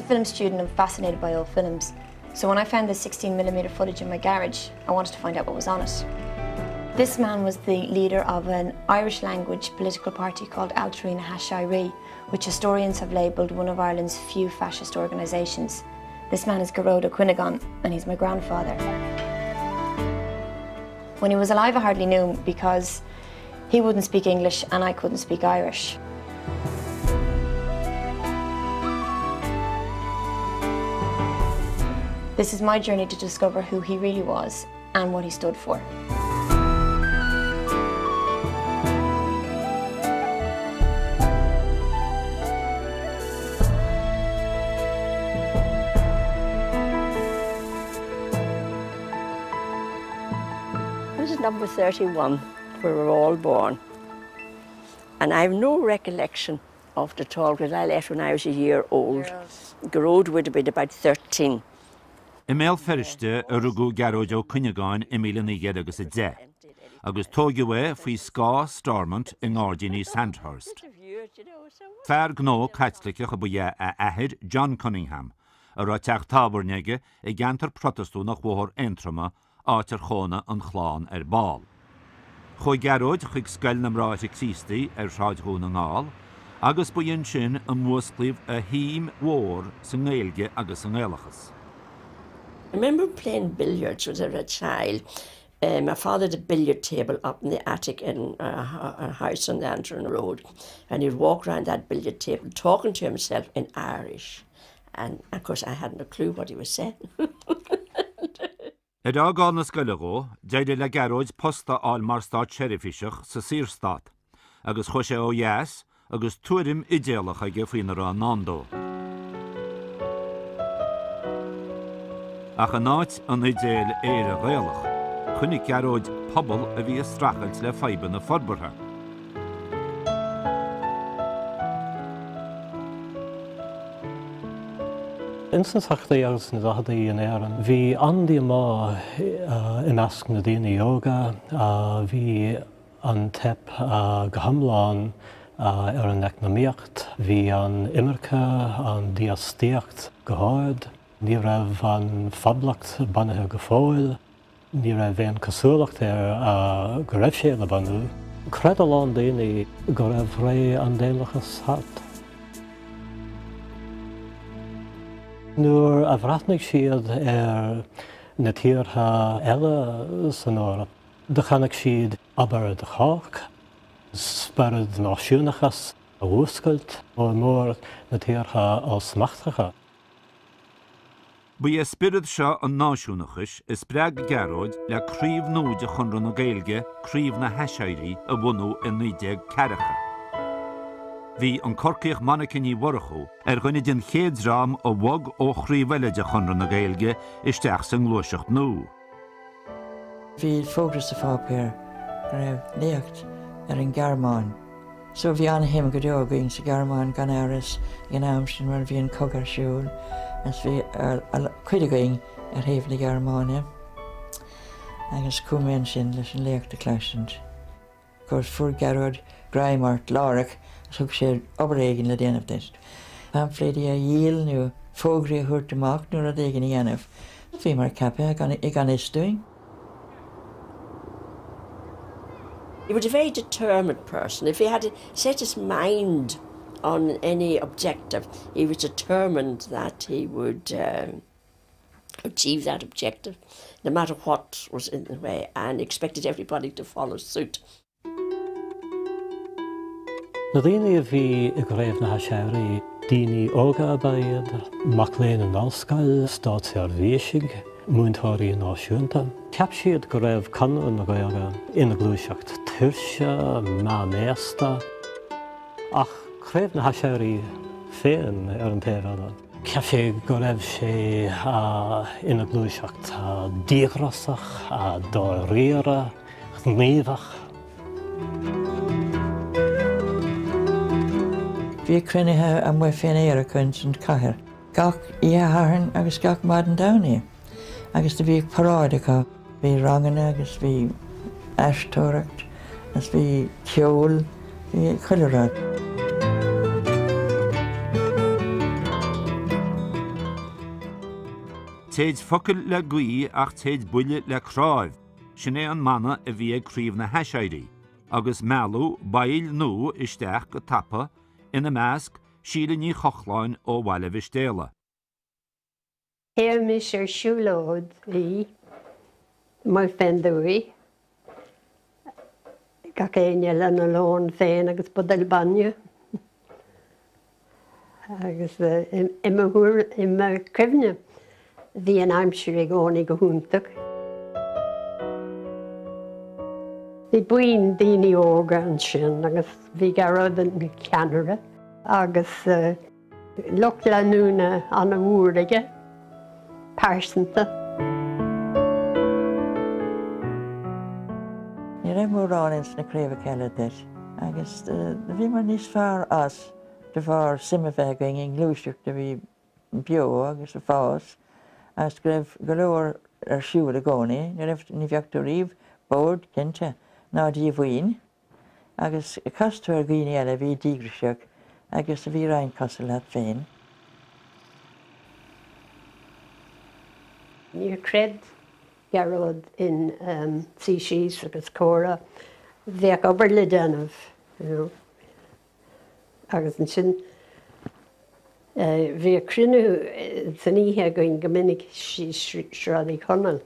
film student, I'm fascinated by old films. So when I found the 16mm footage in my garage, I wanted to find out what was on it. This man was the leader of an Irish language political party called Ailtirí na hAiséirí, which historians have labelled one of Ireland's few fascist organisations. This man is Gearóid Ó Cuinneagáin, and he's my grandfather. When he was alive, I hardly knew him because he wouldn't speak English and I couldn't speak Irish. This is my journey to discover who he really was and what he stood for. This is number 31, where we were all born. And I have no recollection of it at all because I left when I was a year old. Gearóid would have been about 13. I mBéal Feirste a rugadh Gearóid Ó Cuinneagáin i 1910, agus tóigeadh é faoi scáth Stormont i ngairdíní Sandhurst. Fear gnó Caitliceach a ba ea a athair John Cunningham, a raibh teach tábhairne aige i gceantar Protastúnach Bhóthar Aontroma áit ar chónaigh an chlann ar ball. Chuaigh Gearóid chuig Scoil na mBráithre Críostaí ar Shráid Dhún na nGall agus ba ansin a músclaíodh a shuim mhór sa nGaeilge agus sa nGaelachas. I remember playing billiards when I was a child. My father had a billiard table up in the attic in our house on the Antrim Road and he'd walk round that billiard table talking to himself in Irish and of course I hadn't a clue what he was saying. Ar fhágáil na scoile dhó, d'éirigh le Gearóid post a fháil mar státseirbhíseach sa Saorstát, agus chuaigh sé ó dheas agus tuairim idéalach aige faoina raibh i ndán dó. Ach in áit an idéil Éire Ghaelach, chonaic Gearóid pobal a bhí ag streachailt le fadhbanna forbartha. Ins na tríochaidí agus na daicheadaí in Éirinn, bhí an-díomá i measc na daoine óga. Bhí an teip go hiomlán ar an eacnamaíocht, bhí an imirce, an dífhostaíocht go hard, ní raibh an phoblacht bunaithe go fóill. Ní raibh aon cosúlacht air go raibh sé le bunú. Chreid a lán daoine go raibh ré an daonlathais thart. Nuair a bhreathnaigh siad ar na tíortha eile san Eoraip, do chonaic siad obair do chách, spiorad náisiúnachas a mhúscailt, mór mór na tíortha ollsmachtacha. Ba é spiorad seo an náisiúnachais a spreag Gearóid le craobh nua de Chonradh na Gaeilge, Craobh na hAiséirí, a bhunú i 1940. Bhí an Corcaíoch Monica Ní Mhurchú ar dhuine den chéad dream a bhog ó chraobh eile de Chonradh na Gaeilge isteach sa ngluaiseacht nua. Bhí fógra sa pháipéar go raibh léacht ar an Ghearmáin. So bhí an-shuim go deo againn sa Ghearmáin gan amhras ag an am sin mar bhí an cogadh ar siúl agus bhí cuid againn ar thaobh na Gearmáine agus chuaigh mé ansin leis an léacht a chloisint. Of course fuair Gearóid greim ort láithreach agus thug sé obair éigin le déanamh duit. Paimfléidí a dhíol nó fógraí a thabhairt amach nó rud éigin a dhéanamh. Bhíomar ceaptha i gan fhios dúinn. He was a very determined person. If he had set his mind on any objective, he was determined that he would um, achieve that objective, no matter what was in the way, and expected everybody to follow suit. Na daoine a bhí i gCraobh na hAiséirí, daoine óga ab ea iad, mac léinn in ollscoil, státseirbhísigh, múinteoirí náisiúnta. Cheap siad go raibh Conradh na Gaeilge ina ghluaiseacht tuirse, meánaosta. Ach Craobh na hAiséirí féin ar an taobh eile, cheap sé go raibh sé ina ghluaiseacht díograiseach, dáiríre, gníomhach. Bhí cruinnithe amuigh fén aer acu ins an chathair gach oíche Shathairn agus gach maidin Domhnaigh agus do bhíodh paráid acu. Bhí ranganna agus bhí aisteoireacht agus bhí ceol, bhí chuile rud. Téid focail le gaoth ach téid buille le cnáimh, sin é an mana a bhí ag Craobh na hAiséirí, agus mealladh baill nua isteach go tapa, ina measc, Síle Ní Chochláin ó Bhaile Mhistéala. Théimis ar siúlóidí amuigh fén dtuaith, gach éinne lena lón féin agus buidéal bainne. Agus i mo chuimhne bhí an aimsir i gcónaí go hiontach. Bhí buíon daoine óga ansin agus bhí Gearóid ina cheannaire agus lucht leanúna an-mhór aige, pearsanta. Ní raibh mórán ins na craobhacha eile duit agus bhíomar níos fearr as de bharr suim a bheith againn i ngluaiseacht a bhí beo agus ag fás agus go raibh go leor ar siúl i gcónaí. Ní raibh, ní bheadh tú riamh bored, cinnte, ná díomhaoin. Agus chas tú ar dhaoine eile a bhí díograiseach agus a bhí roinnt cosúil leat féin. Níor chreid Gearóid in suí síos agus comhrá. Bheadh obair le déanamh, you know. Agus ansin bhíodh cruinniú san oíche againn go minic síos Sráid Uí Chonaill.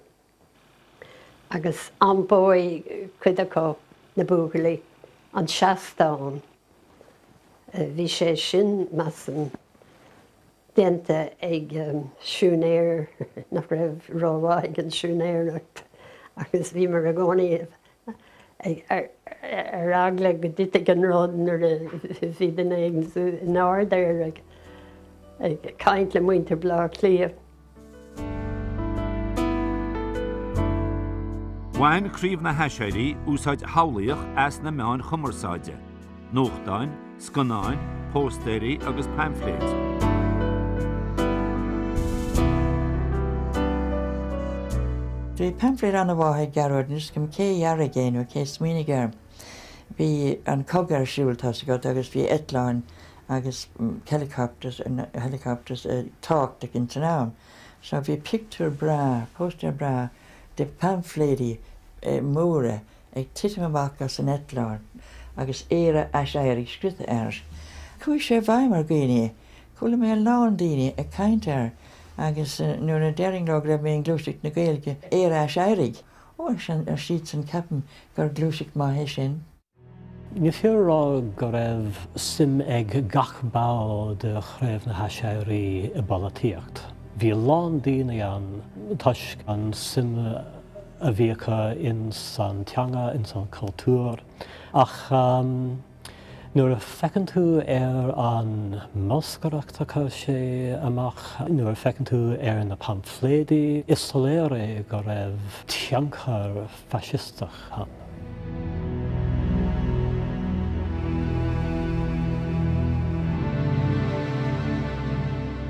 Agus iompóidh cuid acu, na buachaillí, an seastán. Bhí sé sin, measaim, déanta ag siúinéir nach raibh rómhaith ag an siúinéireacht agus bhíomar i gcónaí ar eagla go dtitfeadh an rud nuair a bhí duine éigin in airde air ag caint le muintir Bhaile Átha Cliath. Bhain Craobh na hAiséirí úsáid shamhlaíoch as na meáin chumarsáide, nuachtáin, scannáin, póstaeirí agus paimfléid. Bhí paimfléad an-mhaith ag Gearóid, níl 'fhios agam cé a dhearaigh é nó cé a smaoinigh air. Bhí an cogadh ar siúl, tá's agat, agus bhí eitleáin agus helicopters, helicopters tábhachtach ins an am. So bhí pictiúr breá, póstaer breá de paimfléidí móra ag titim amach as an eitleán agus Éire Aiséirigh scriofa air. Chuaigh sé i bhfeidhm ar dhaoine. Chuala mé a lán daoine ag caint air agus nuair a déarfainn leo go raibh mé i nGluaiseacht na Gaeilge, Éire Aiséirigh! Ó, ar siadsan, ceapaim gur gluaiseacht maith é sin. Ní féidir a rá go raibh suim ag gach ball de Chraobh na hAiséirí i bpolaitíocht. Bhí a lán daoine ann toisc an suim a bhí acu ins an teanga, ins an cultúr. Ach nuair a feiceann tú ar an mbolscaireacht a chuir sé amach, nuair a feiceann tú ar na paimfléidí, is soiléir é go raibh tionchar faisisteach ann.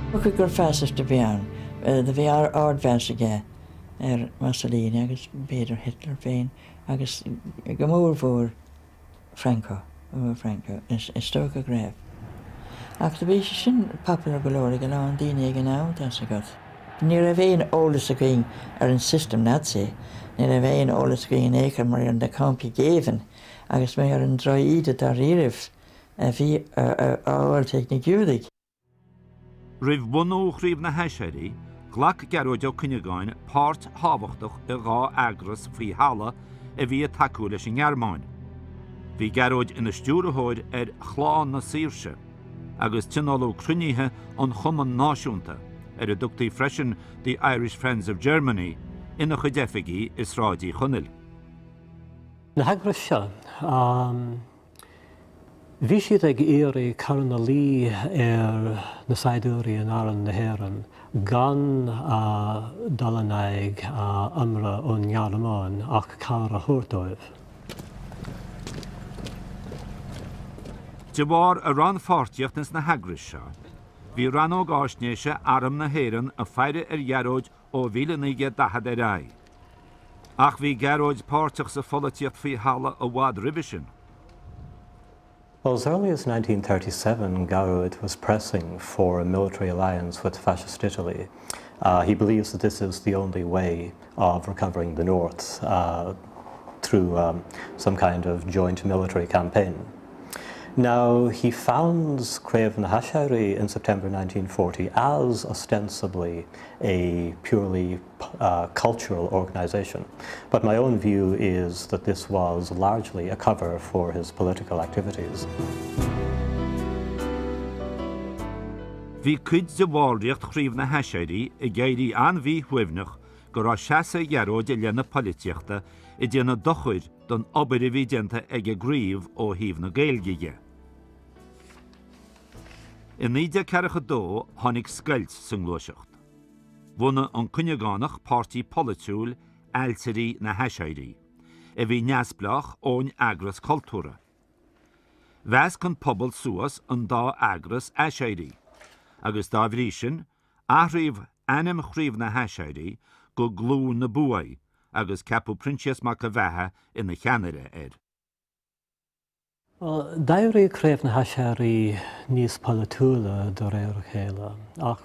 Dócha gur fascist a bhí ann. Do bhí ardmheas aige ar Mussolini agus b'fhéidir Hitler féin agus go mór mhór Franco, Franco, is dócha go raibh. Ach do bhí sé sin popular go leor ag a lán daoine ag an am, tá's agat. Ní raibh aon eolas againn ar an system Nazi, ní raibh aon eolas againn in aon chor mar ar na campaí géibhinn agus mar ar an droch-íde dáiríribh a bhí á fháilt ag na Giúdaigh. Roimh bhunú Chraobh na hAiséirí, ghlac Gearóid Ó Cuinneagáin páirt thábhachtach i dha eagras faoi thalamh a bhí ag tacú leis an nGearmáin. Bhí Gearóid ina stiúrthóir ar Chlann na Saoirse agus tionóladh cruinnithe an Chumainn Náisiúnta, ar a dtugtaí freisin The Irish Friends of Germany, ina chuid oifigí i Sráid Uí Chonaill. Na heagrais seo, Bhí siad ag iarraidh cur ina luí ar na saighdiúirí in Arm na hÉireann gan dul in aghaidh ionradh ón nGearmáin ach cabhair a thabhairt dóibh. De bharr a rannpháirtíocht ins na heagrais seo, bhí Rannóg Fháisnéise Arm na hÉireann ag faire ar Ghearóid ó 1940 ar aghaidh. Ach bhí Gearóid páirteach sa pholaitíocht faoi thalamh i bhfad roimhe sin. Well, as early as 1937, Gearóid was pressing for a military alliance with fascist Italy. Uh, he believes that this is the only way of recovering the North uh, through um, some kind of joint military campaign. Now, he founds Craobh na hAiséirí in September 1940 as ostensibly a purely uh, cultural organization. But my own view is that this was largely a cover for his political activities. Bhí cuid de bhallraíocht Chraobh na hAiséirí ag éirí an-mhíshuaimhneach go raibh seasamh Ghearóid i leith na polaitíochta ag déanamh dochair don obair a bhí déanta ag an gcraobh ó thaobh na Gaeilge dhe. I 1942 tháinig scoilt sa ngluaiseacht. Bhunaigh an Cuinneagánach páirtí polaitiúil, Ailtirí na hAiséirí, a bhí neamhspleách ón eagras cultúrtha. Mheasc an pobal suas an dá eagras Aiséirí, agus dá bhrí sin, athraíodh ainm Chraobh na hAiséirí go Glúin na Buaidhe agus ceapadh Proinsias Mac an Bheatha ina cheannaire air. D'éirigh Craobh na hAiséirí níos polaitiúla de réir a chéile, ach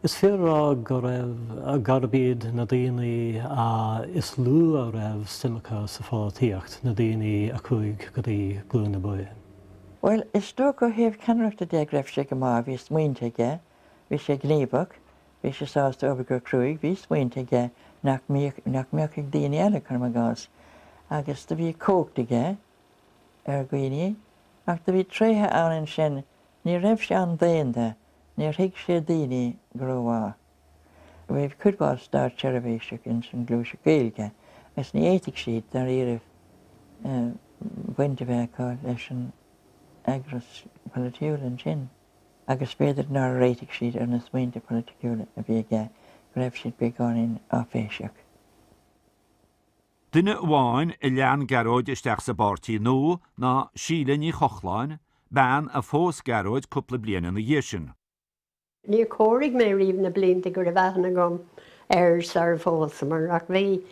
is fíor a rá go raibh, gurb iad na daoine is lú a raibh suim acu sa pholaitíocht, na daoine a chuaigh go dtí Glúin na Buaidhe. Bhuel, is dócha ó thaobh ceannaireachta de go raibh sé go maith, bhí smaointe aige, bhí sé gníomhach, bhí sé sásta obair go cruaidh, bhí smaointe aige nach mbíodh, nach mbeadh ag daoine eile, cuirim i gcás, agus do bhí cumhacht aige. ar dhaoine, ach do bhí tréithe ann ansin, ní raibh sé an-daonda, níor thuig sé daoine go rómhaith. Bhí cuid mhaith státseirbhíseach ins an Ghluaiseacht Gaeilge agus ní fhéadfadh siad, dáiríribh, baint a bheith acu leis an eagras polaitiúil ansin agus b'fhéidir nár réitigh siad ar na smaointe polaitiúla a bhí aige, go raibh siad beagáinín áiféiseach. Duine amháin a lean Gearóid isteach sa bpáirtí nua ná Síle Ní Chochláin, bean a phós Gearóid cúpla bliain ina dhiaidh sin. Níor chomhair mé riamh na blianta go raibh aithne agam air sar a phósamar ach bhí,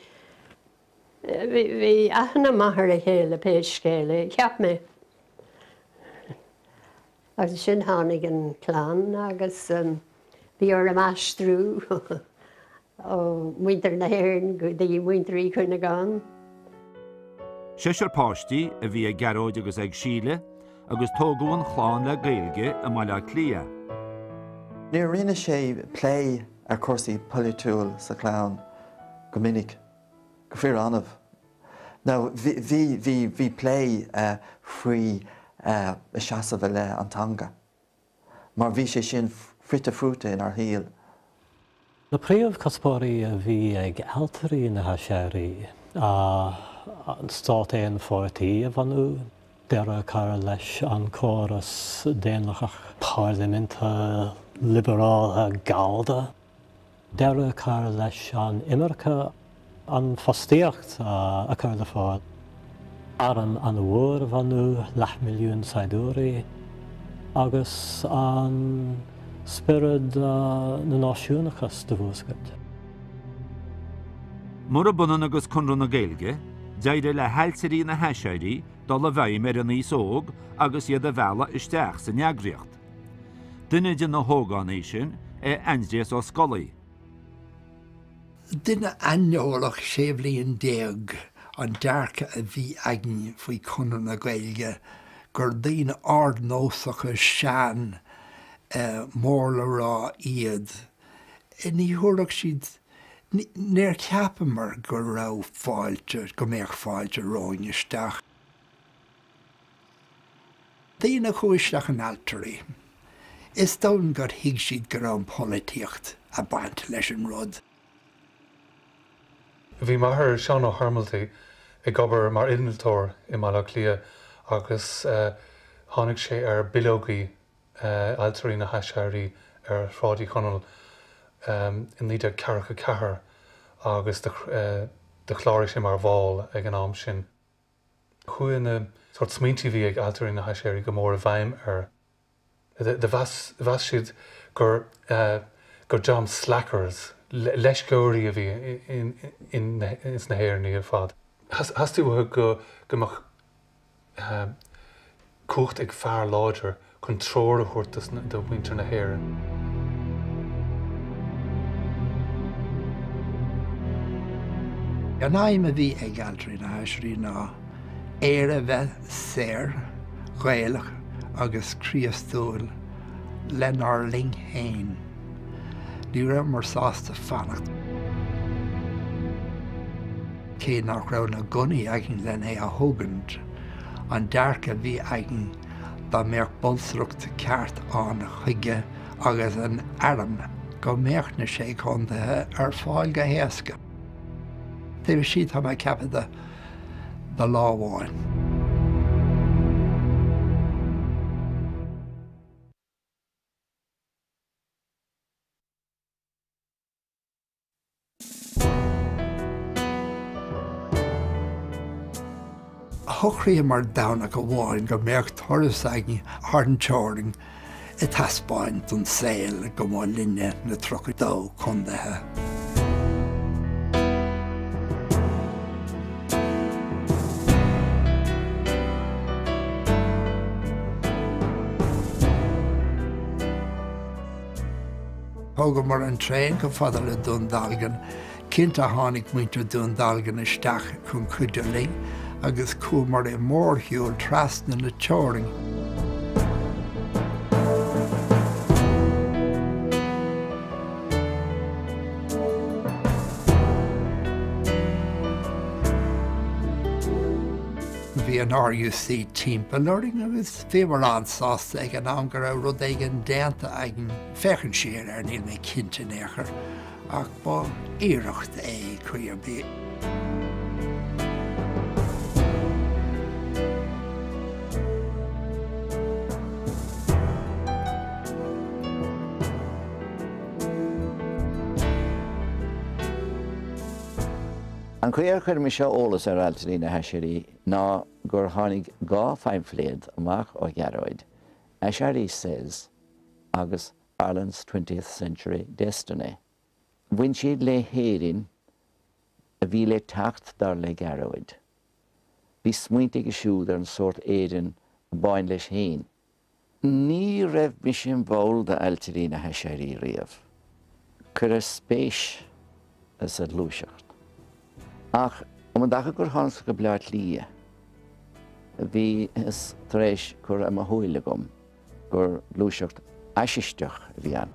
bhí aithne maith ar a chéile pé scéal é, cheap mé. Agus ansin tháinig an chlann agus bhí orm aistriú ó mhuintir na hÉireann go dtí muintir Uí Chuinneagáin. Seisear páistí a bhí ag Gearóid agus ag Síle agus tógadh an chlann le Gaeilge i mBaile Átha Cliath. Níor rinne sé plé ar chúrsaí polaitiúil sa chlann go minic, go fíor-annamh. Now bhí, bhí, bhí plé faoi a seasamh i leith an teanga, mar bhí sé sin fite fuaite inár shaol. Na príomhchuspóirí a bhí ag Ailtirí na hAiséirí ná an stát aon-pháirtí a bhunú, deireadh a chur leis an córas daonlathach parlaiminte liobrálach Gallda, Deireadh a chur leis an imirce, an fostaíocht a chur le fáil, arm an-mhór a bhunú, leathmhilliún saighdiúirí, agus an spiorad na náisiúnachas do mhúscailt. Murab ionann agus Conradh na Gaeilge, d'éirigh le hAiltirí na hAiséirí dul i bhfeidhm ar an aos óg agus iad a mhealladh isteach san eagraíocht. Duine de na hógánaigh sin é Aindrias Ó Scolaí. Duine aineolach 16 bhliain an dearcadh a bhí againn faoi Chonradh na Gaeilge, gur daoine ardnósacha sean mór le rá iad. Ní thabharfadh siad, níor cheapamar go raibh fáilte, go mbeadh fáilte romhainn isteach. Daoine a chuaigh isteach in Ailtirí, is dóigh gur thuig siad go raibh an pholaitíocht ag baint leis an rud. Bhí m'athair, Seán Ó hOrmoltaigh, ag obair mar innealtóir i mBaile Átha Cliath agus tháinig sé ar bileogaí Ailtirí na hAiséirí ar Shráid Uí Chonaill i 1944 agus do chláraigh sé mar bhall ag an am sin. Chuaigh na sórt smaointí a bhí ag Ailtirí na hAiséirí go mór i bhfeidhm air. Do mheas siad gur gur dream slackers, leisceoirí a bhí ins na hÉireannaigh ar fad. Theastaigh uathu go go mbeadh cumhacht ag fear láidir chun treoir a thabhairt do mhuintir na hÉireann. An aidhm a bhí ag Ailtirí na hAiséirí ná Éire bheith saor, Gaelach agus Críostúil lenár linn féin. Ní rabhamar sásta fanacht. Cé nach raibh na gunnaí againn len é a thógaint, an dearcadh a bhí againn dá mbeadh bolsaireacht ceart ann chuige agus an arm go mbeadh na Sé Chontaetha ar fáil go héasca. Taobh istigh tá mé ag ceapadh de lá amháin. Shocraíomar Domhnach amháin go mbeadh turas againn thar an teorainn ag taispeáint don saol go mba linne na 32 contaetha. Thógamar an traein chomh fada le Dún Dealgan. Cinnte tháinig muintir Dún Dealgan isteach chun cuidiú linn agus chuamar i mórshiúl trasna na teorainn. Bhí an RUC timpeall orainn agus bhíomar an-sásta ag an am go raibh rud éigin déanta againn. Féachaint siar air níl mé cinnte in aon chor ach ba iarracht é caoi ar bith. An chaoi ar chuir mise eolas ar Ailtirí na hAiséirí ná gur tháinig 2 phaimfléad amach ó Ghearóid, Aiséirí Says agus Ireland's Twentieth Century Destiny. Bhain siad le hÉirinn a bhí le teacht dar le Gearóid. Bhí smaointe aige siúd ar an sórt Éireann a b'áin leis féin. Ní raibh mise im bhall d'Ailtirí na hAiséirí riamh. Cuireadh spéis sa ghluaiseacht. Ach um an dtaca gur thánagsa go Bleá Cliath, bhíothas tar éis cur ar mo shúil agam gur gluaiseacht fhaisisteach a bhí ann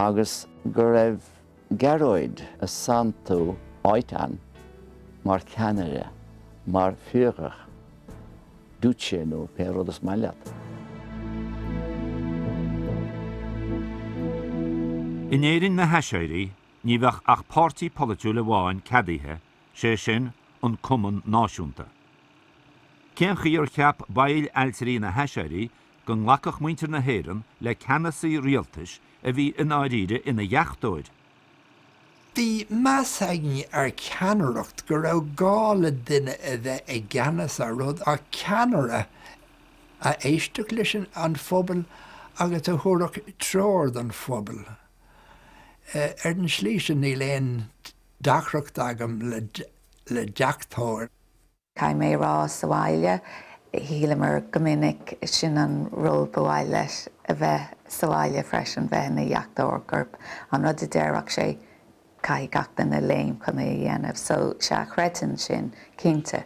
agus go raibh Gearóid ag santú áit ann mar cheannaire, mar Führer, Duce nó pé rud is maith leat. In Éirinn na hAiséirí, ní bheadh ach páirtí polaitiúil amháin ceadaithe, sé sin, an Cumann Náisiúnta. Cén chaoi ar cheap baill Ailtirí na hAiséirí go nglacfadh muintir na hÉireann le ceannasaí rialtais a bhí i ndáiríre ina dheachtóir? Bhí meas againn ar cheannaireacht, go raibh gá le duine a bheith i gceannas ar rud, ach ceannaire a éistfeadh leis an phobal agus a thabharfadh treoir don phobal. Ar an tslí sin níl aon deacracht agam le deachtóir. Caithfidh mé a rá sa bhaile, shíleamar go minic, sin an ról ba mhaith leis a bheith sa bhaile freisin, bheith ina dheachtóir, gurb an rud a déarfadh sé, caithfidh gach duine léim chun é a dhéanamh. So, sea, chreidfinn sin, cinnte.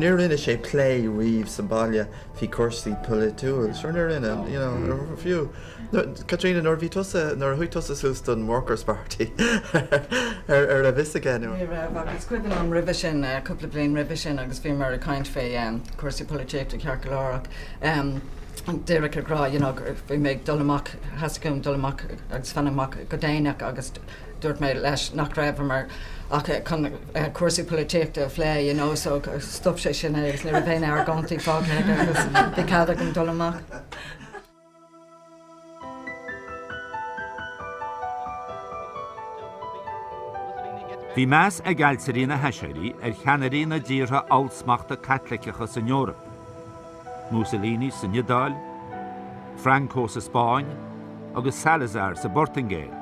Níor rinne sé plé riamh sa baile faoi cúrsaí polaitiúil. Sure níor rinne, you know, fiú. Caitríona, nuair a bhí tusa, nuair a chuaigh tusa suas don Workers Party, ar raibh fhios aige nó? Ní raibh, ach is cuimhin liom roimhe sin, cúpla bliain roimhe sin agus bhíomar ag caint fé cúrsaí polaitíochta ceart go leor ach díreach ag rá, you know, bhí mé ag dul amach, theastaigh uaim dul amach agus fanacht amach go déanach agus Dúirt mé leis nach rabhamar ach chun cúrsaí polaitíochta a phlé, you know, so stop sé sin é agus ní raibh aon argóintí fágtha aige agus bhí cead agam dul amach. Bhí meas ag ailtirí na hAiséirí ar cheannairí na dtíortha ollsmachta Caitliceacha san Eoraip, Mussolini san Iodáil, Franco sa Spáinn agus Salazar sa bPortaingéil.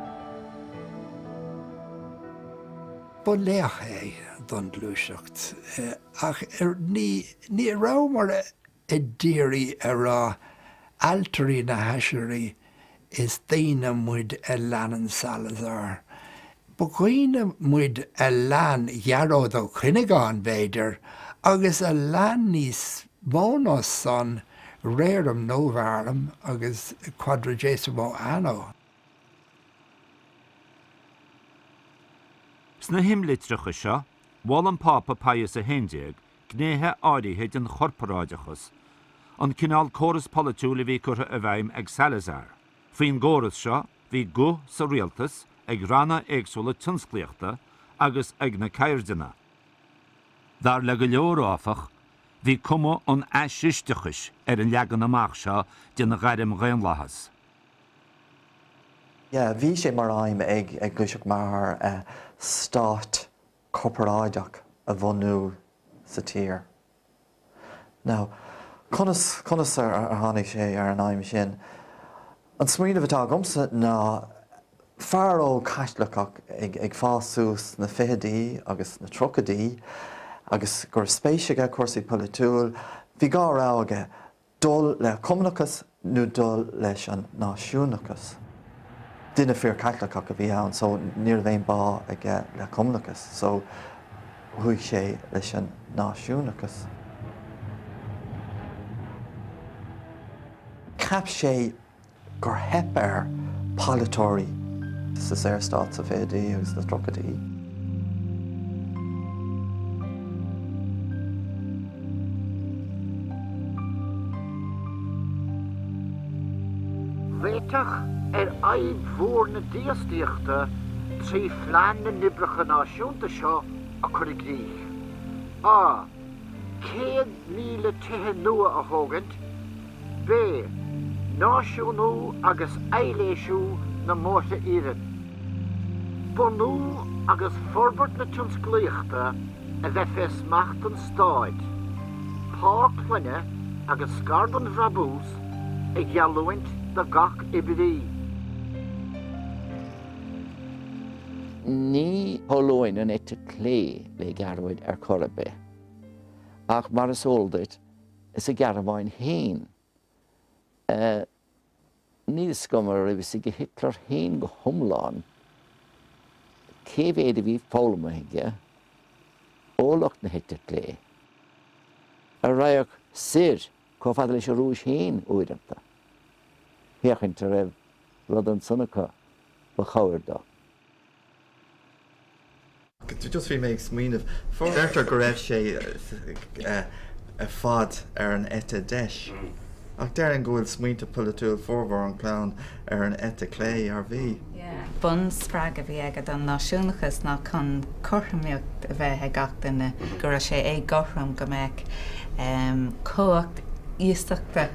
Ba laoch é don ghluaiseacht ach ní ní rabhamar a d'iarraidh a rá ailtirí na hAiséirí is daoine muid a leanann Salazar. Ba dhaoine muid a lean Gearóid Ó Cuinneagáin, b'fhéidir, agus a lean níos mó ná san, Rerum Novarum agus Quadragesimo Anno. Sna himlitreacha seo, mhol an Pápa Pius 11 gnéithe áirithe den chorparáideachas, an cineál córas polaitiúil a bhí curtha i bhfeidhm ag Salazar. Faoin gcóras seo, bhí guth sa rialtas ag ranna éagsúla tionsclaíochta agus ag na ceirdeanna. Dar le go leor, áfach, bhí cuma an fhaisisteachais ar an leagan amach seo den ghairmdhaonlathas. Yeah, bhí sé mar aidhm ag Gluaiseacht m'athar stát corparáideach a bhunú sa tír. Now, conas, conas ar tháinig sé ar an aidhm sin? An smaoineamh atá agamsa ná fear óg Caitliceach ag, ag fás suas sna fichidí agus sna tríochaidí agus go raibh spéis aige cúrsaí polaitiúil, bhí dhá rogha aige, dul le Cumannachas nó dul leis an náisiúnachas. Duine fíor-Chaitliceach a bhí ann so ní raibh aon bá aige le Cumannachas so chuaigh sé leis an náisiúnachas. Cheap sé gur theip ar pholaiteoirí sa Saorstát sa bhfichidí agus sna tríochaidí. Réiteach ar fhadhb mhór na dífhostaíochta 3 Phlean na nOibreacha Náisiúnta seo a chur i gcrích. A. 100,000 tithe nua a thógaint. B. Náisiúnú agus aibhléisiú na mbóithre iarainn. Bunú agus forbairt na tionsclaíochta a bheith fé smacht an stáit. Pá clainne agus scar den bhrabús a gheallúint do gach oibrí. Ní shamhlóinn an eite chlé le Gearóid ar chor ar bith. Ach mar is eol duit, sa Ghearmáin féin. Níl fhios agam an raibh fhios ag Hitler féin go hiomlán cé mhéad a bhí foghlamtha aige ó lucht na heite clé, a raghadh soir chomh fada leis an Rúis féin uaireanta, féachaint an raibh rud ansan acu ba chabhair dó. Just bhí mé ag smaoineamh, deirtear go raibh sé ar fad ar an eite deis, ach déarfainn go bhfuil smaointe polaitiúil formhór an chlann ar an eite clé, ar bhí? Bunspreagadh a bhí aige don náisiúnachas ná chun cothromaíocht a bheith ag gach duine, go raibh sé éagothrom go mbeadh cumhacht iasachta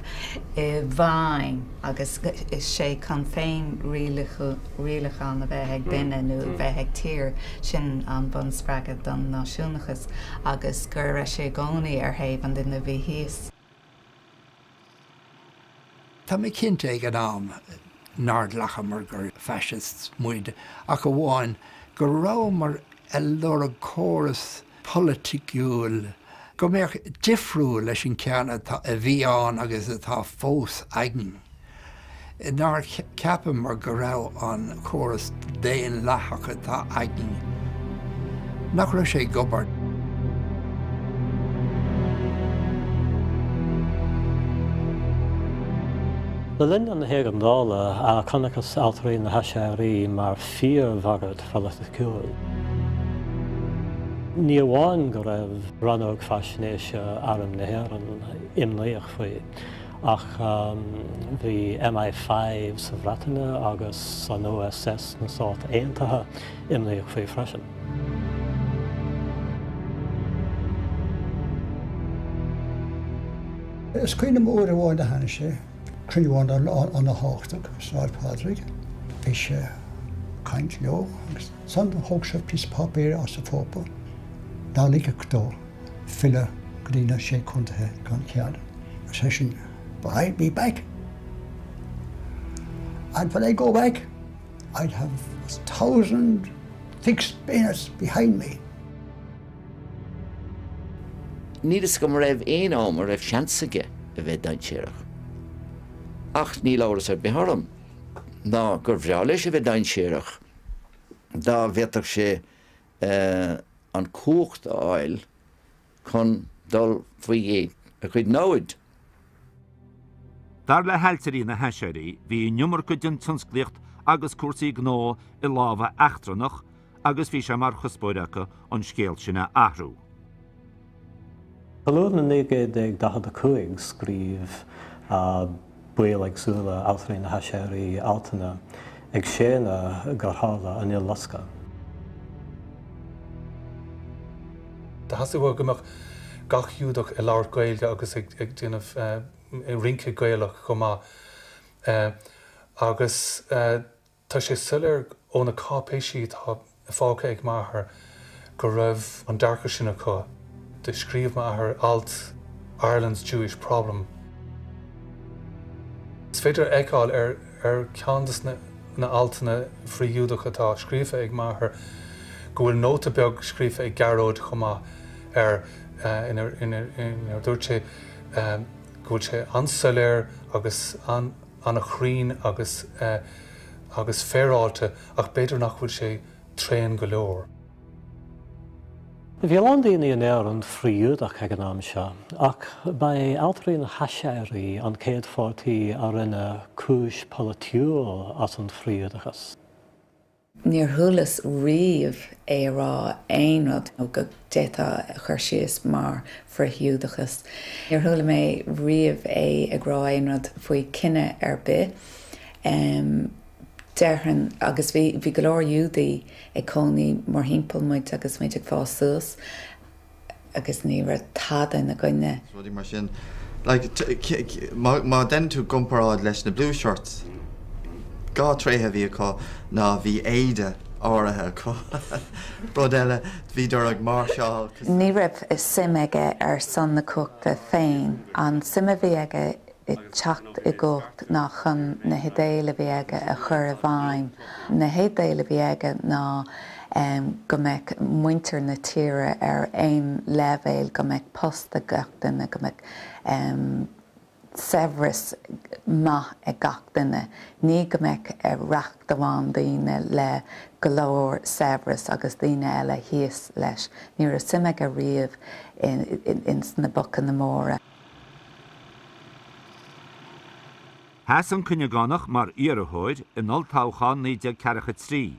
i bhfeidhm agus is é chun féin-rialachán a bheith ag duine nó a bheith ag tír, sin an bunspreagadh don náisiúnachas agus go raibh sé i gcónaí ar thaobh an duine a bhí thíos. Tá mé cinnte ag an am nár ghlacamar gur fascists muid ach amháin go rabhamar a lorg córas polaitiúil go mbeadh difriúil leis an ceann atá, a bhí ann agus atá fós againn. Nár cheapamar go raibh an córas daonlathach atá againn, nach raibh sé ag obair. Le linn na hÉigeandála, chonacthas Ailtirí na hAiséirí mar fíorbhagairt pholaitiúil. Ní amháin go raibh Rannóg Faisnéise Arm na hÉireann imníoch faoi, ach bhí MI5 sa Bhreatain agus an OSS sna Stáit Aontaithe imníoch faoi freisin. Is cuimhin liom uair amháin a tháinig sé, cruinniú ana-thábhachtach i Sráid Phádraig. Bhí sé ag caint leo agus ansan thóg sé píosa páipéir as a phóca ná ligfeadh dó filleadh go dtí na Sé Contaetha gan cead. Ar seisean, But I'll be back. And when I go back, I'll have a Fixed bayonets behind me. Níl fhios agam an raibh aon am a raibh seans aige a bheith dainséarach. Ach níl amhras ar bith orm ná gur bhreá leis a bheith dainséarach dá bhféadfadh sé an cumhacht a fháil chun dul faoi ghéint a chuid namhad. Dar le hailtirí na hAiséirí, bhí an iomarca den tionsclaíocht agus cúrsaí gnó i lámha eachtrannach agus bhí sé mar chuspóir acu an scéal sin a athrú. Go luath in 1945 scríobh baill éagsúla Ailtirí na hAiséirí altanna ag séanadh gur tharla an tUileloscadh. Theastaigh uathu go mbeadh gach Giúdach ag labhairt Gaeilge agus ag déanamh rince Gaelach chomh maith. Agus tá sé soiléir ó na cáipéisí atá fágtha ag m'athair go raibh an dearcadh sin acu. Do scríobh m'athair alt Ireland's Jewish Problem. Is féidir a fheiceáil ar ar cheann de na altanna frith-Ghiúdacha atá scríofa ag m'athair go bhfuil nóta beag scríofa ag Gearóid chomh maith air inar dúirt sé go bhfuil sé an-soiléir agus an-chruinn agus agus féaráilte ach b'fhéidir nach bhfuil sé tréan go leor. Bhí a lán daoine in Éirinn frith-Ghiúdach ag an am seo, ach ba é Ailtirí na hAiséirí an chéad pháirtí a rinne cúis pholaitiúil as an frith-Ghiúdachas. Níor chualas riamh é a rá aon rud go d'fhéadfá a chur síos mar frith-Ghiúdachas. Níor chuala mé riamh é ag rá aon rud faoi cine ar bith. Déarfainn, agus bhí, bhí go leor Iúdaí ag cónaí mórthimpeall muid agus muid ag fás suas agus ní raibh tada ina gcoinne. Rudaí mar sin. Like, má deineann tú comparáid leis na Blue Shirts, dá tréithe a bhí acu ná bhí éide áirithe acu. Rud eile, bhíodar ag máirseáil. Ní raibh suim aige ar son na cumhachta féin. An suim a bhí aige i teacht i gcumhacht ná chun na hidéil a bhí aige a chur i bhfeidhm. Na hidéil a bhí aige ná go mbeadh muintir na tíre ar aon leibhéal, go mbeadh post ag gach duine, go mbeadh saibhreas maith ag gach duine, ní go mbeadh racht amháin daoine le go leor saibhreas agus daoine eile thíos leis. Ní raibh suim aige riamh ins na bocanna móra. Sheas an Cuinneagánach mar iarrthóir in olltoghchán 1943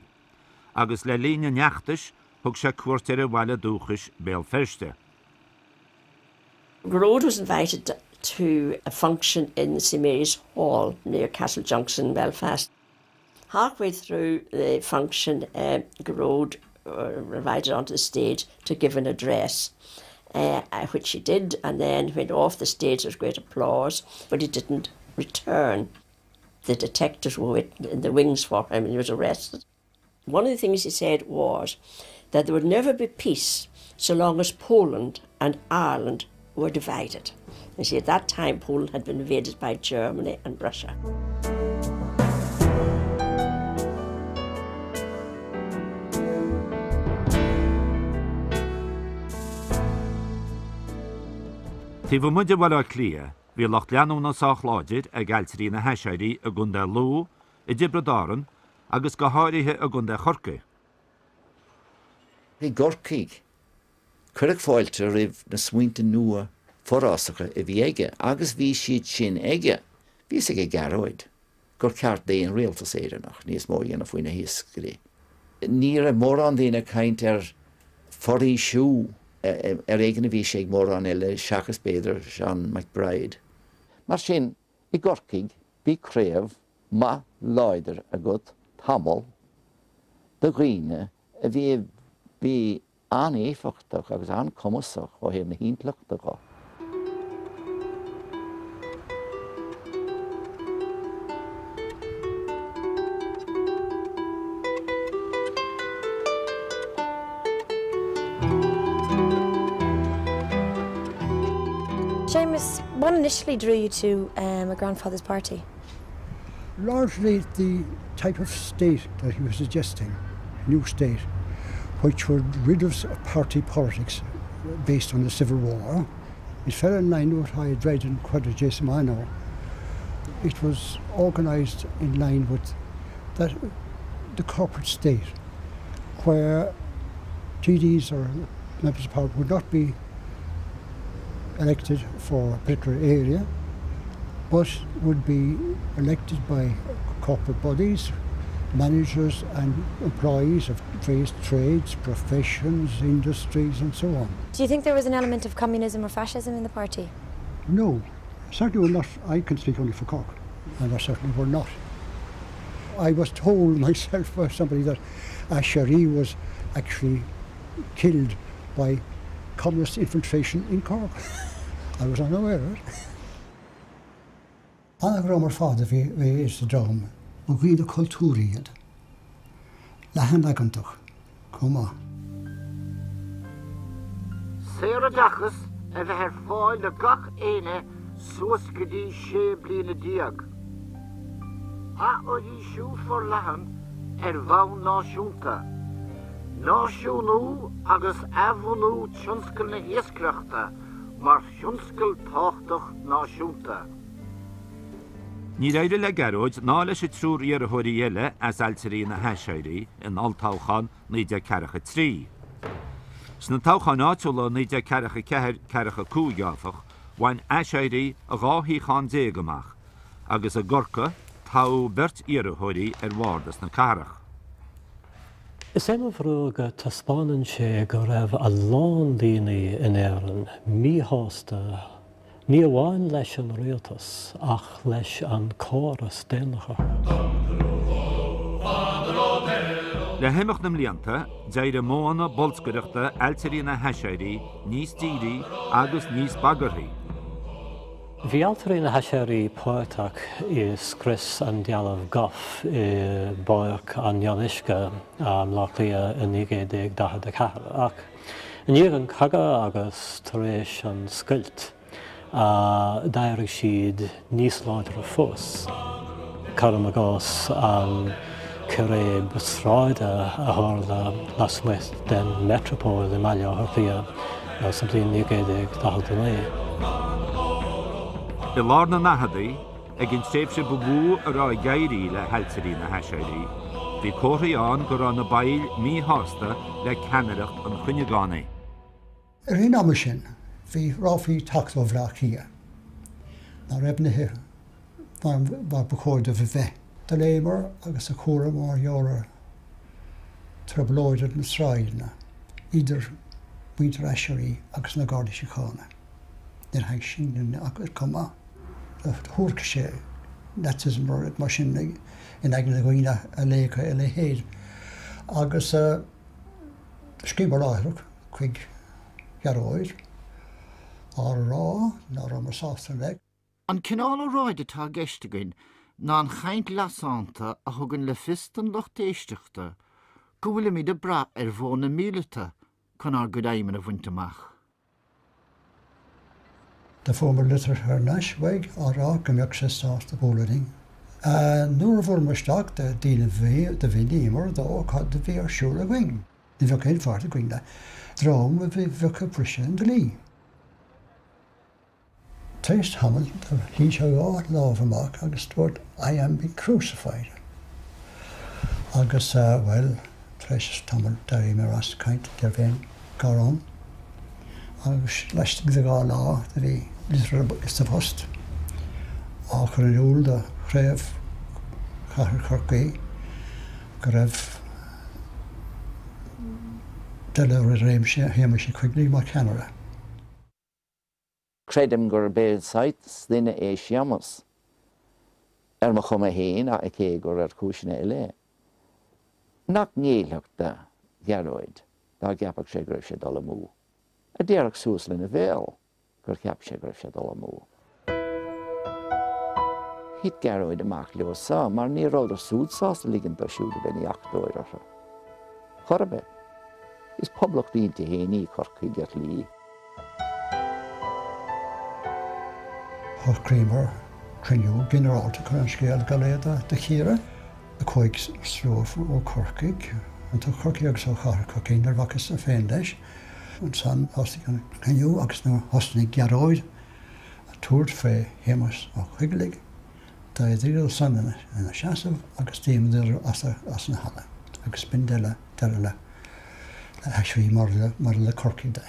agus le linn an fheachtais thug sé cuairt ar a bhaile dúchais, Béal Feirste. Gearóid was invited to a function in St Mary's Hall near Castle Junction, Belfast. Halfway through the function, uh, Gearóid uh, invited onto the stage to give an address. Uh, which he did, and then went off the stage with great applause, but he didn't return. The detectives were in the wings for him and he was arrested. One of the things he said was that there would never be peace so long as Poland and Ireland were divided. You see, at that time, Poland had been invaded by Germany and Russia. Taobh amuigh de Bhaile Átha Cliath, bhí lucht leanúna sách láidir ag Ailtirí na hAiséirí i gContae Lú, i dTiobraid Árann agus go háirithe i gContae Chorcaí. I gCorcaigh, Cuireadh fáilte roimh na smaointe nua forásacha a bhí aige agus bhí siad sin aige. Bhí fhios ag Gearóid gur cheart d'aon rialtas Éireannach níos mó a dhéanamh faoi na hiascairí. Ní raibh mórán daoine ag caint ar foraoisiú, ar éigean a bhí sé ag mórán eile seachas b'fhéidir Seán MacBride. Mar sin, i gCorcaigh bhí craobh maith láidir agat tamall de dhaoine a bhí a bhí an-éifeachtach agus an-cumasach ó thaobh na hintleachta dho. Seamus, what initially drew you to um, a grandfather's party? Largely the type of state that he was suggesting, new state. which would rid us of party politics based on the Civil War. It fell in line with what I had read in Quadragesimo Anno. It was organised in line with that, the corporate state, where TDs or members of parliament would not be elected for a particular area, but would be elected by corporate bodies, managers and employees of various trades, professions, industries and so on. Do you think there was an element of communism or fascism in the party? No, certainly were not. I can speak only for Cork, and I certainly were not. I was told myself by somebody that Aiséirí was actually killed by communist infiltration in Cork. I was unaware of it. An-dhream ar fad a bhí sa dream. Ba dhaoine cultúrtha iad. Leathanaigeantach chomh maith. Saoroideachas a bheith ar fáil do gach éinne suas go dtí 16 bliana. Athfhoraoisiú forleathan ar bhonn náisiúnta. Náisiúnú agus athbhunú tionscal na hiascaireachta mar thionscal tábhachtach náisiúnta. Níor éirigh le Gearóid ná leis an triúr iarrthóirí eile as Ailtirí na hAiséirí in olltoghchán 1943. Sna toghcháin áitiúla 1944, 45, áfach, bhain Aiséirí 12 shuíochán amach agus i gCorcaigh toghadh beirt iarrthóirí ar bhardas na cathrach. Is é mo bharúil go taispeánann sé go raibh a lán daoine in Éirinn míshásta ní amháin leis an rialtas ach leis an córas daonlathach. Le himeacht na mblianta, d'éirigh modhanna bolscaireachta Ailtirí na hAiséirí níos dírí agus níos bagarthaí. Bhí Ailtirí na hAiséirí páirteach i scrios an dealbh Gough i bPáirc an Fhionnuisce i mBleá Cliath i 1944 ach i ndiaidh an chogaidh agus tar éis an scoilt d'éirigh siad níos láidre fós. Cuirim i gcás an círéib sráide a tharla lasmuigh den Metropole i mBaile Átha Cliath sa bhliain 1949. I lár na ndaicheadaí, ag an tréimhse ba mhó a raibh ag éirí le hAiltirí na hAiséirí, bhí comharthaí ann go raibh na baill míshásta le ceannaireacht an Chuinneagánaigh. I rith an ama sin bhí ráflaí ag teacht ó Bhleá Cliath nach raibh nithe mar ba chóir dóibh a bheith. Do léamar agus do chualamar mar gheall ar trioblóid ar na sráideanna idir muintir Aiséirí agus na Gardaí Síochána. Níor thaitin sin linn ach oiread chomh maith. Do thuairiscigh sé Nazism nó rud mar sin in aigne na dhaoine a léifeadh a leithéid agus scríobhamar láithreach chuig Gearóid á rá ná rabhamar sásta le. An cineál óráide atá i gceist againn ná an chaint lasánta a thugann le fios don lucht éisteachta go bhfuilimid ag brath ar mhodhanna míleata chun ár gcuid aidhmeanna a bhaint amach. Do fuaireamar litir thar n-ais uaidh á rá go mbeadh sé sásta bualadh linn. Nuair a bhuaileamar isteach do do mhíníomar dó cad a bhí ar siúl againn. Ní bheadh aon pháirt againn le dream a bheadh ag briseadh an dlí. Tar éis tamaill do shín sé a dhá lámh amach agus dúirt I am being crucified. Agus, bhuel, tar éis tamaill d'éiríomar as caint, ní raibh aon gá ann. Agus laistigh de dha lá do bhí litir sa phost á chur in iúl do chraobh Chathair Chorcaí go raibh deireadh le réim Shéamais Uí Choigligh mar cheannaire. Creidim gurb é saghas duine é Séamas, ar mo chuma fhéin ach cé gur ar chúiseanna eile é, nach ngéillfeadh do Ghearóid dá gceapfadh sé go raibh sé ag dul amú, a déarfadh suas lena bhéal gur cheap sé go raibh sé ag dul amú. Thit Gearóid amach leo so mar ní rabhadar súd sásta ligint dó siúd a bheith ina dheachtóir orthu. Chor ar bith. Is poblacht inti fhéin í Corcaigh ar shlí. Shocraíomar cruinniú ginearálta chun an scéal go léir do chíoradh. Chuaigh slua ó Chorcaigh. Ó Chorcaigh agus ó chathair Chorcaí, nuair a bhacas-sa féin leis. Ansan thosaigh an cruinniú agus nuair thosnaigh Gearóid a' tabhairt fé Shéamus Ó Coigligh, d'éiríodar san ina seasamh agus d'imíodar as an halla agus b'in deireadh le hAiséirí maidir le Corcaigh de.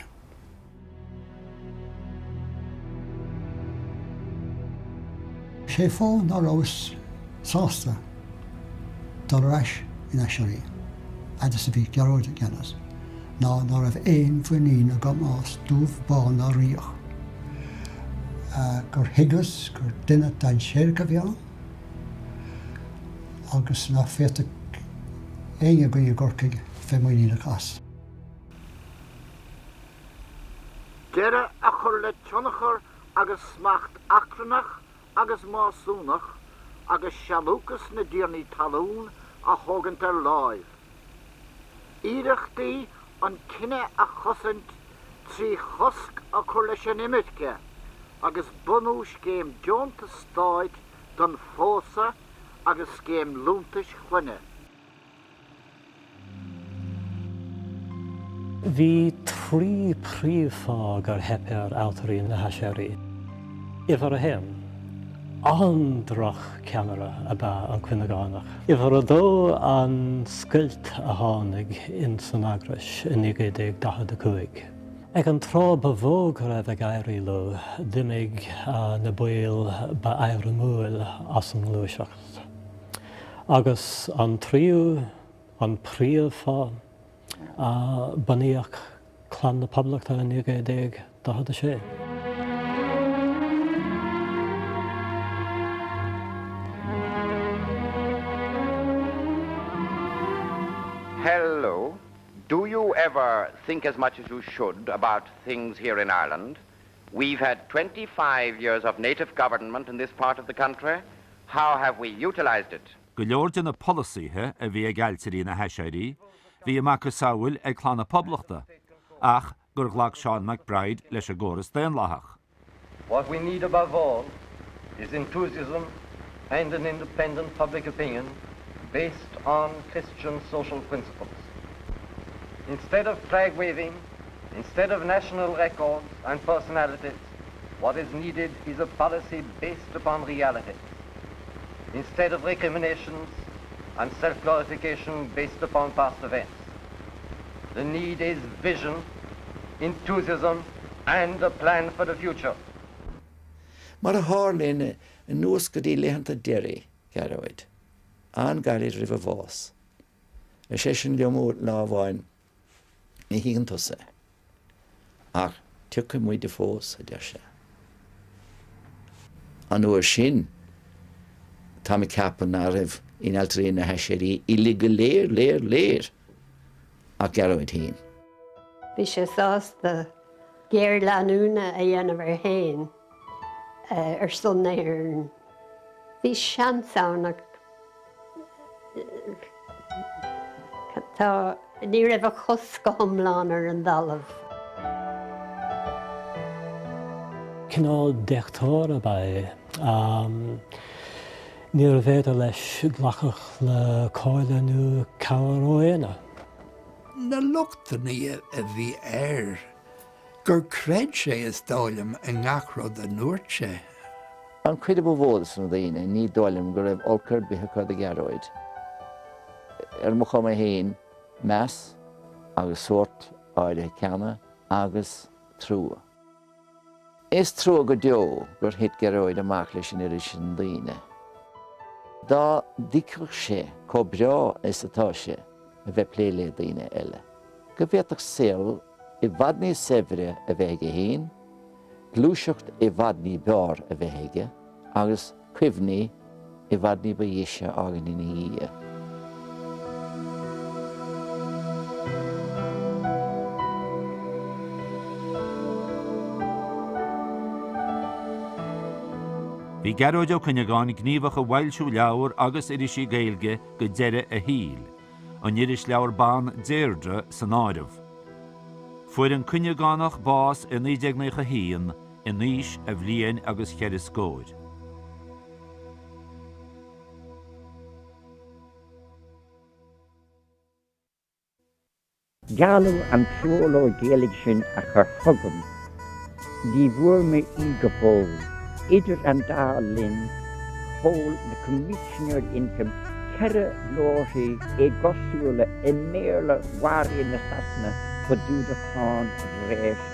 Sé fáth ná rabhas sásta dul ar ais in Aiséirí, fhad is a bhí Gearóid i gceannas, ná ná raibh aon mhuinín agam as, dubh, bán ná riach, gur thuigeas gur duine dainséarach a bhí ann agus ná féadfadh éinne againn i gCorcaigh bheith muiníneach as. Deireadh a chur le tionchar agus smacht achrannach agus másúnach agus sealúchas na dtiarnaí talún a thógaint ar láimh. Iarrachtaí an cine a chosaint trí chosc a chur leis an imirce agus bunú scéim deontas stáit don phósadh agus scéim liúntais chlainne. Bhí trí príomhfáth gur theip ar Ailtirí na hAiséirí. Uimhir a haon, an-droch-cheannaire ab ea an Cuinneagánach. Uimhir a dó, an scoilt a tháinig ins an eagrais i 1945. Ag an tráth ba mhó go raibh ag éirí leo, d'imigh na baill ba éirimiúil as an ngluaiseacht. Agus an tríú, an príomhfháth, bunaíodh Clann na Poblachta i 1946. Hello. Do you ever think as much as you should about things here in Ireland? We've had 25 years of native government in this part of the country. How have we utilised it? Go leor de na polasaithe a bhí ag Ailtirí na hAiséirí, bhí a macasamhail ag Clann na Poblachta, ach gur ghlac Seán MacBride leis an gcóras daonlathach. What we need above all is enthusiasm and an independent public opinion based on Christian social principles. Instead of flag waving, instead of national records and personalities, what is needed is a policy based upon reality. Instead of recriminations and self-glorification based upon past events. The need is vision, enthusiasm and a plan for the future. Mar a tharlaíonn anuas go dtí laethanta deiridh Ghearóid, an-ghairid roimh a bhás, ar seisean liom lá amháin, Ní thuigeann tusa é, ach tiocfaidh muide fós, a deir sé. An uair sin, táim ag ceapadh ná raibh in Ailtirí na hAiséirí uilig go léir, léir, léir, ach Gearóid féin. Bhí sé sásta géarleanúna a dhéanamh air féin ar son na hÉireann. Bhí seans ann ach tá, ní raibh a chos go hiomlán ar an dtalamh. Cineál deachtóir ab ea é. Níorbh fhéidir leis glacadh le comhairle nó cabhair ó éinne. Na lochtanna a bhí air, gur chreid sé, is dóigh liom, i ngach rud a ndúirt sé. An chuid a ba mhó de na daoine, ní dóigh liom go raibh olc ar bith acu do Ghearóid. Ar mo chuma féin, meas agus sórt áirithe ceana agus trua. Is trua go deo gur thit Gearóid amach leis an oiread sin daoine. Dá dtuigfeadh sé chomh breá is atá sé a bheith plé le daoine eile, go bhféadfadh saol i bhfad níos saibhre a bheith aige féin, gluaiseacht i bhfad ní b'fhearr a bheith aige agus cuimhní i bhfad ní ba dheise a fhágaint ina dhiaidh. Bhí Gearóid Ó Cuinneagáin gníomhach i bhfoilsiú leabhar agus irisí Gaeilge go deireadh a shaoil, an irisleabhar ban Deirdre san áireamh. Fuair an Cuinneagánach bás i 1991 in aois a bhliain agus cheithre scóir. Gealladh an treoirleabhar Gaeilge sin a chur chugam. Ní bhfuair mé í go fóill. Idir an dá linn, sheol na Coimisinéirí Ioncaim 4 leabharthaí éagosúla i mBéarla mharaithe Sasana fá dtaobh de cháin bhreis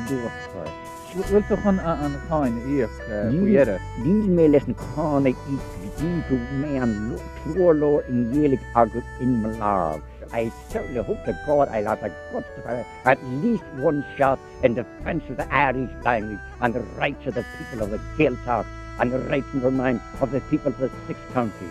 luachmhar. Bhfuil tú chun an cháin a íoc faoi dheireadh? Níl mé leis an cháin a íoc go dtí go mbeidh an treoirleabhar i nGaeilge agam in mo lámh. I certainly hope to God I'll have the guts to fire at least one shot in defence of the Irish language and the rights of the people of the Gaeltacht and the rights, never mind, of the people of the six counties.